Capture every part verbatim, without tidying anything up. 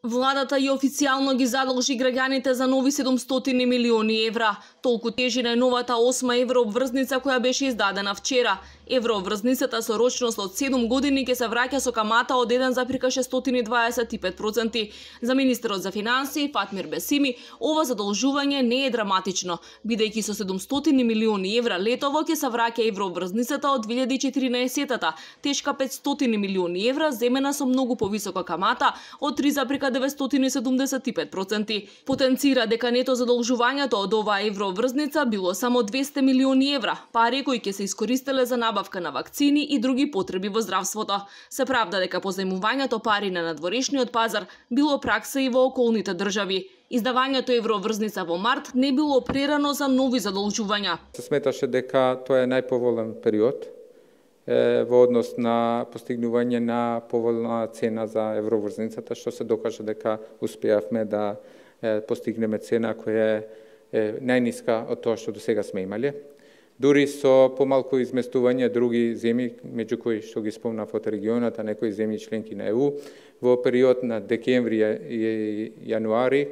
Владата и официјално ги задолжи граѓаните за нови седумстотини милиони евра. Толку тежи најновата осма еврообврзница која беше издадена вчера. Еврообврзницата со рочност од седум години ќе се враќа со камата од еден зарез шестстотини дваесет и пет проценти. За министерот за финансии Фатмир Бесими, ова задолжување не е драматично, бидејќи со седумстотини милиони евра летово ќе се враќа еврообврзницата од две илјади и четиринаесетта, тешка петстотини милиони евра, земена со многу повисока камата од три зарез деветстотини седумдесет и пет проценти. Потенцира дека нето задолжувањето од оваа еврообврзница било само двесте милиони евра, пари кои ќе се искористеле за набавка на вакцини и други потреби во здравството. Се правда дека позајмувањето пари на надворешниот пазар било пракса и во околните држави. Издавањето еврообврзница во март не било прерано за нови задолжувања. Се сметаше дека тоа е најповолен период во однос на постигнување на поволна цена за еврообврзницата, што се докажа дека успеавме да постигнеме цена која е најниска од тоа што до сега сме имале. Дури со помалку изместување други земји, меѓу кои што ги спомнав од регионот, а некои земји членки на Е У, во период на декември и јануари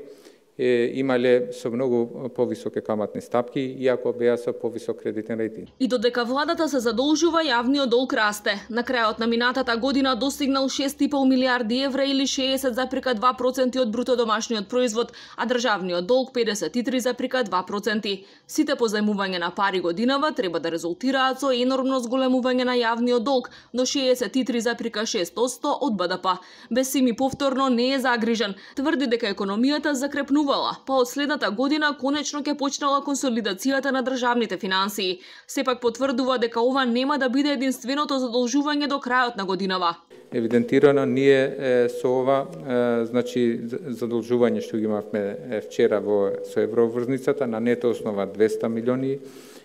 имале со многу повисоки каматни стапки, иако беа со повисок кредитен рейтинг. И додека владата се задолжува, јавниот долг расте. На крајот на минатата година достигнал шест и пол милијарди евра или шеесет зарез два проценти од бруто домашниот производ, а државниот долг педесет и три зарез два проценти. Сите позајмувања на пари годинава треба да резултираат со енормно зголемување на јавниот долг до шеесет и три зарез шест проценти од Б Д П. Бесими повторно не е загрижен, тврди дека економијата закрепнува, па од следната година конечно ќе почнала консолидацијата на државните финансии. Сепак потврдува дека ова нема да биде единственото задолжување до крајот на годинава. Евидентирано ние е, со ова е, значи задолжување што ги имавме е, вчера во со еврообврзницата на нето основа двесте милиони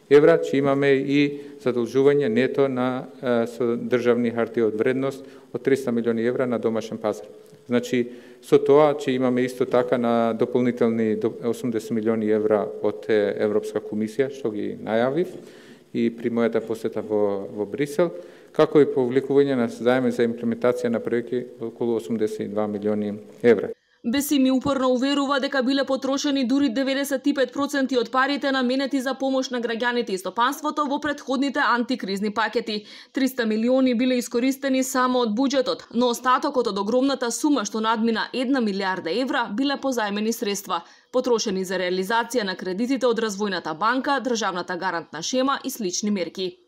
евра, че имаме и задолжување нето на е, со државни хартии од вредност од триста милиони евра на домашен пазар. Значи, со тоа, че имаме исто така на дополнителни осумдесет милиони евра од Европска комисија, што ги најавив и при мојата посета во, во Брисел, како и повлекување на заеми за имплементација на проекти околу осумдесет и два милиони евра. Бесими упорно уверува дека биле потрошени дури деветдесет и пет проценти од парите наменети за помош на граѓаните и стопанството во претходните антикризни пакети. триста милиони биле искористени само од буџетот, но остатокот од огромната сума што надмина една милијарда евра биле позајмени средства, потрошени за реализација на кредитите од Развојната банка, државната гарантна шема и слични мерки.